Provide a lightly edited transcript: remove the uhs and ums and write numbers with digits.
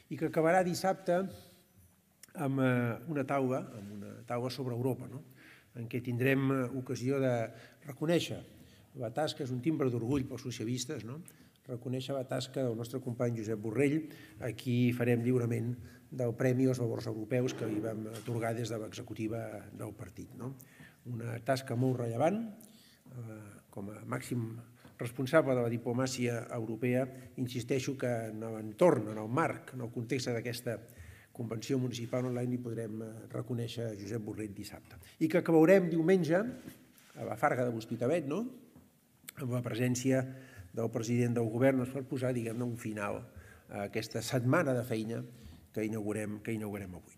i que acabarà dissabte amb una taula sobre Europa, en què tindrem ocasió de reconèixer la tasca, és un timbre d'orgull pels socialistes, reconèixer la tasca del nostre company Josep Borrell, a qui farem lliurament del Premi als Valors Europeus que li vam atorgar des de l'executiva del partit. Una tasca molt rellevant, com a màxim responsable de la diplomàcia europea, insisteixo que en l'entorn, en el marc, en el context d'aquesta Convenció Municipal Online hi podrem reconèixer Josep Borrell dissabte. I que acabarem diumenge a la Farga de l'Hospitalet, amb la presència del president del govern, per posar, diguem-ne, un final a aquesta setmana de feina que inaugurem avui.